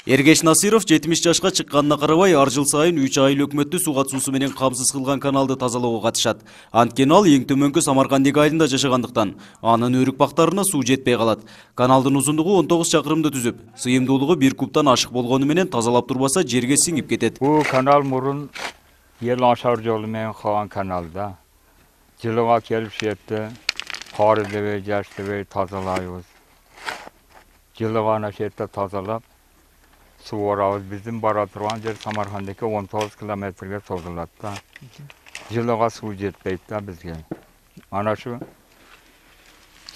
Эргеш Насиров 70 жашка чыкканына карабай ар жыл сайын 3 айыл өкмөттү суу катышуусу менен камсыз кылган каналды тазалоого катышат. Анткени ал эң төмөнкү Самаркандик айылында жашагандыктан анын өрүк бактарына суу жетпей калат. Каналдын узундугу 19 чакырымды түзүп, сыйымдуулугу 1 кубтан ашык болгону менен тазалап турбаса жерге сиңип кетет. Бул канал мурун ел ашар жолу менен калган каналда. Жылыга келип шетте кар дебей, жаш дебей тазалайбыз. Жылыга ана шетте тазалап суу барабыз. Биздин бара турган жер Самаркандыке 19 километрге созулат да. Жылыга суу жетпейт да бизге. Ана шу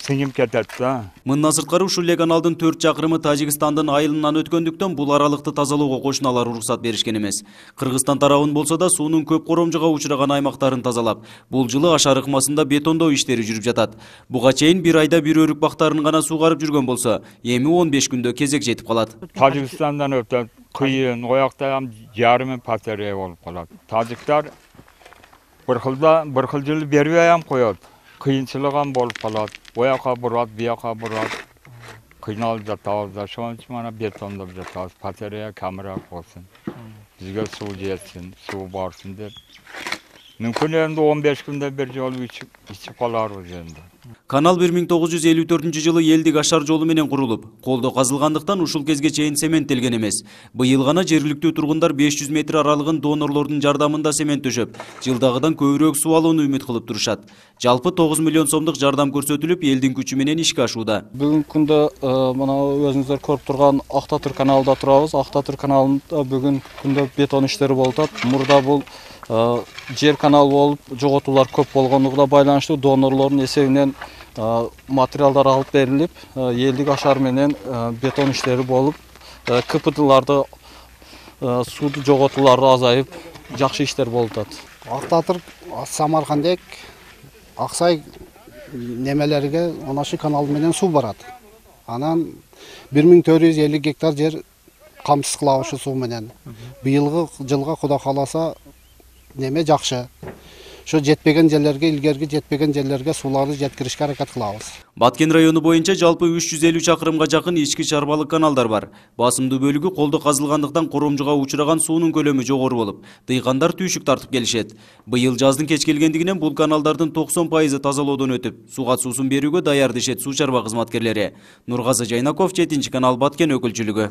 сиңип кетет да. Мындан сырткары ушул эле каналдын 4 чакырымы Тажикстандын айылынан өткөндүктөн бул аралыкты тазалоого кошуналар уруксат беришкен эмес. Кыргызстан тарабын болсо да суунун көп коромжуга учураган аймактарын тазалап, бул жылы ашар ыкмасында бетондоо иштери жүрүп жатат. Буга чейин бир айда бир өрүк бактарын гана суугарып жүргөн болсо, эми 15 күндө кезек жетип калат. Тажикстандан өтөт, кыйын, оякта ham жарымы патерия болуп калат. Тажиктар bir xil жыл бербей ham коет. Кыйынчылык ham болуп калат. Ояка бурат, бияка бурат. Кыйналып жатабыз да, ошон үчүн мана бетондоп жатабыз. Патерия камыраак болсун. Бизге суу жетсин, суу барсын деп. Мүмкүн энди 15 күндө бир жолу ичип каларбыз энди. Канал 1954-жылы элдик ашар жолу менен курулуп, колдо казылгандыктан ушул кезге чейин цементтелген эмес. Быйыл гана жергиликтүү тургундар 500 метр аралыгын донорлордун жардамында цемент төшөп, жылдагыдан көбүрөөк суу алууну үмүт кылып турушат. Жалпы 9 миллион сомдук жардам көрсөтүлүп, элдин күчү менен ишке ашууда. Бүгүнкү күндө мына өзүңүздөр көрүп турган Актатыр каналында турабыз. Актатыр каналында бүгүнкү күндө бетон иштери болуп атат. Мурда бул жер канал болуп, жоготуулар көп болгондугуна байланыштуу донорлордун эсебинен материалдар алып берилип, элдик ашар менен бетон иштери болуп, КПДларды сууду жоготуулары азайып, жакшы иштер болуп атат. Актатыр, Самаркандек, Аксай немелерге онашы канал менен суу барат. Анан 1450 гектар жер камсыз кылабыз ушу суу менен. Быйылгы жылга Кудай кааласа неме жакшы. Ошо жетпеген жерлерге, илгерки жетпеген жерлерге сууларды жеткиришке аракет кылабыз. Баткен району боюнча жалпы 350 чакырымга жакын ички чарбалык каналдар бар. Басымдуу бөлүгү колдо казылгандыктан коромжуга учураган суунун көлөмү жогору болуп, дыйкандар түйшүк тартып келишет. Быйыл жаздын кеч келгендигинен бул каналдардын 90% тазалоодон өтүп, суу катуусун берүүгө даяр дешет суу чарба кызматкерлери. Нургазы Жайнаков, 7 канал, Баткен өкүлчүлүгү.